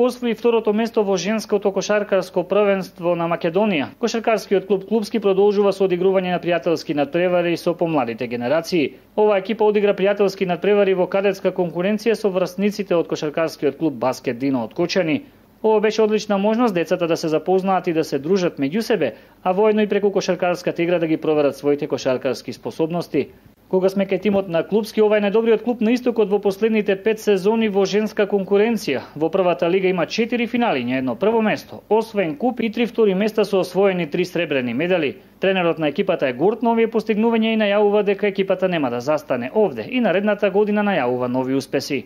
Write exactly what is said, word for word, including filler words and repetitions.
Освои второто место во женското кошаркарско првенство на Македонија. Кошаркарскиот клуб Клубски продолжува со одигрување на пријателски надпревари со помладите генерации. Оваа екипа одигра пријателски надпревари во кадетска конкуренција со врсниците од кошаркарскиот клуб Баскет Дино од Кочани. Ова беше одлична можност децата да се запознаат и да се дружат меѓу себе, а воедно и преку кошаркарската игра да ги проверат своите кошаркарски способности. Кога сме кај тимот на Клубски, ова е најдобриот клуб на истокот во последните пет сезони во женска конкуренција. Во првата лига има четири финали, едно прво место, освен куп и три втори места со освоени три сребрени медали. Тренерот на екипата е горд на овие постигнувања и најавува дека екипата нема да застане овде и наредната година најавува нови успеси.